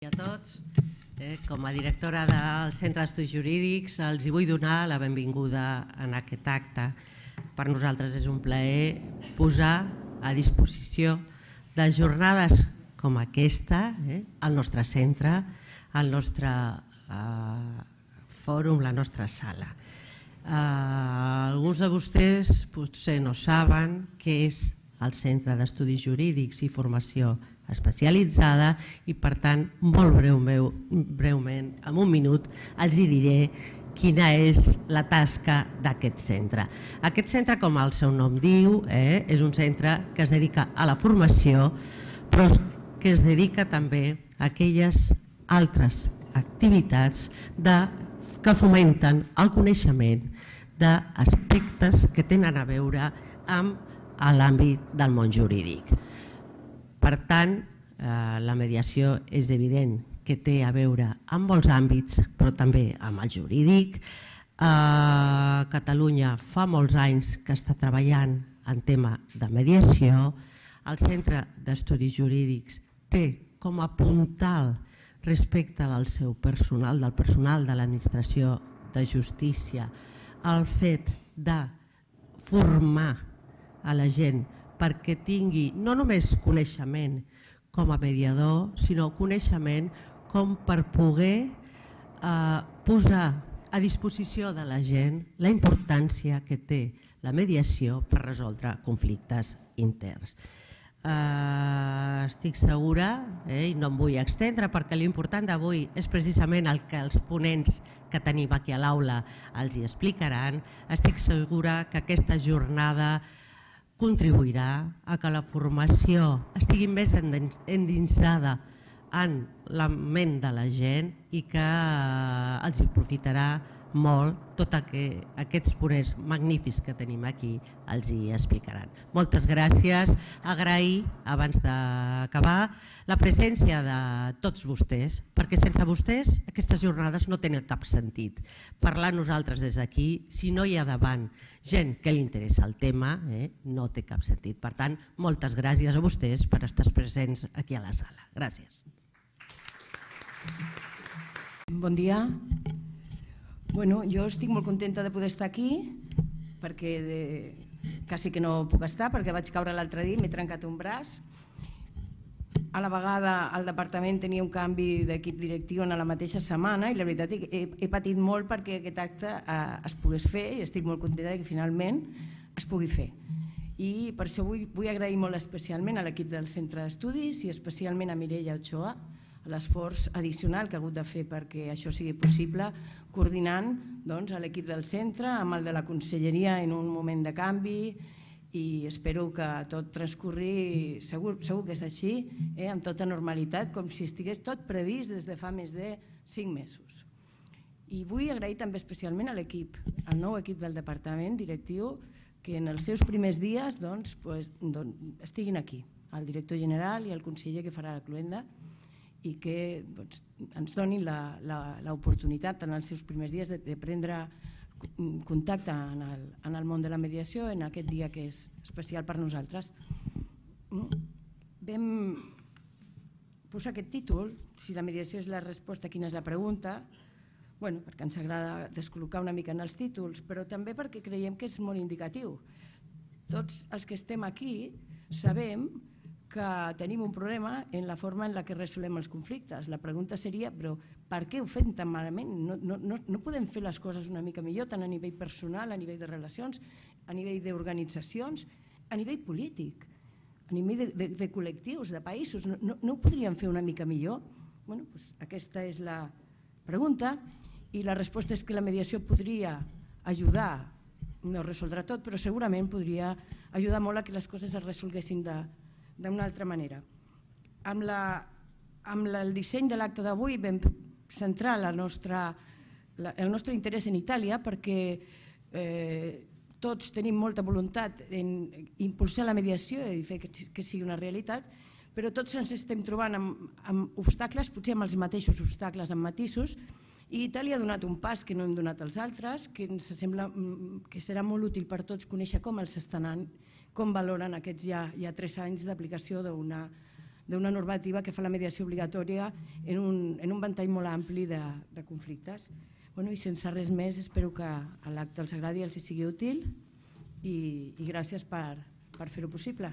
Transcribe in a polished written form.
A tots, com a directora del Centre d'Estudis Jurídics els vull donar la benvinguda en aquest acte. Per nosaltres és un plaer posar a disposició de jornades com aquesta al nostre centre, al nostre fòrum, la nostra sala. Alguns de vostès potser no saben què és el Centre d'Estudis Jurídics i Formació Especialitzada i, per tant, molt breument, en un minut, els diré quina és la tasca d'aquest centre. Aquest centre, com el seu nom diu, és un centre que es dedica a la formació, però que es dedica també a aquelles altres activitats que fomenten el coneixement d'aspectes que tenen a veure amb l'àmbit del món jurídic. Per tant, la mediació és evident que té a veure amb molts àmbits, però també amb el jurídic. Catalunya fa molts anys que està treballant en tema de mediació. El Centre d'Estudis Jurídics té com a puntal respecte del seu personal, del personal de l'administració de justícia, el fet de formar a la gent perquè tingui no només coneixement com a mediador, sinó coneixement com per poder posar a disposició de la gent la importància que té la mediació per resoldre conflictes interns. Estic segura, i no em vull extendre perquè l'important d'avui és precisament el que els ponents que tenim aquí a l'aula els hi explicaran, estic segura que aquesta jornada contribuirà a que la formació estigui més endinsada en la ment de la gent i que els hi aprofitarà molt tots aquests ponents magnífics que tenim aquí, els hi explicaran. Moltes gràcies. Agrair, abans d'acabar, la presència de tots vostès, perquè sense vostès aquestes jornades no tenen cap sentit. Parlar nosaltres des d'aquí, si no hi ha davant gent que li interessa el tema, no té cap sentit. Per tant, moltes gràcies a vostès per estar presents aquí a la sala. Gràcies. Bon dia. Jo estic molt contenta de poder estar aquí, perquè quasi que no puc estar, perquè vaig caure l'altre dia i m'he trencat un braç. A la vegada el departament tenia un canvi d'equip directiu en la mateixa setmana i la veritat he patit molt perquè aquest acte es pogués fer i estic molt contenta que finalment es pugui fer. I per això vull agrair molt especialment a l'equip del Centre d'Estudis i especialment a Mireia Ochoa l'esforç addicional que ha hagut de fer perquè això sigui possible, coordinant l'equip del centre amb el de la conselleria en un moment de canvi i espero que tot transcorri, segur que és així, amb tota normalitat, com si estigués tot previst des de fa més de 5 mesos. I vull agrair també especialment a l'equip, al nou equip del departament directiu, que en els seus primers dies estiguin aquí, el director general i el conseller que farà la cloenda, i que ens donin l'oportunitat en els seus primers dies de prendre contacte en el món de la mediació en aquest dia que és especial per nosaltres. Vam posar aquest títol, si la mediació és la resposta, quina és la pregunta, perquè ens agrada descol·locar una mica en els títols, però també perquè creiem que és molt indicatiu. Tots els que estem aquí sabem que tenim un problema en la forma en què resolem els conflictes. La pregunta seria, però per què ho fem tan malament? No podem fer les coses una mica millor, tant a nivell personal, a nivell de relacions, a nivell d'organitzacions, a nivell polític, a nivell de col·lectius, de països. No ho podríem fer una mica millor? Aquesta és la pregunta i la resposta és que la mediació podria ajudar, no resoldre tot, però segurament podria ajudar molt a que les coses es resolguessin d'una altra manera. Amb el disseny de l'acte d'avui vam centrar el nostre interès en Itàlia perquè tots tenim molta voluntat en impulsar la mediació i fer que sigui una realitat, però tots ens estem trobant amb obstacles, potser amb els mateixos obstacles, amb matisos, i Itàlia ha donat un pas que no hem donat els altres, que ens sembla que serà molt útil per tots conèixer com els estan anant, com valoren aquests ja 3 anys d'aplicació d'una normativa que fa la mediació obligatòria en un ventall molt ampli de conflictes. I sense res més, espero que l'acte els agradi i els sigui útil i gràcies per fer-ho possible.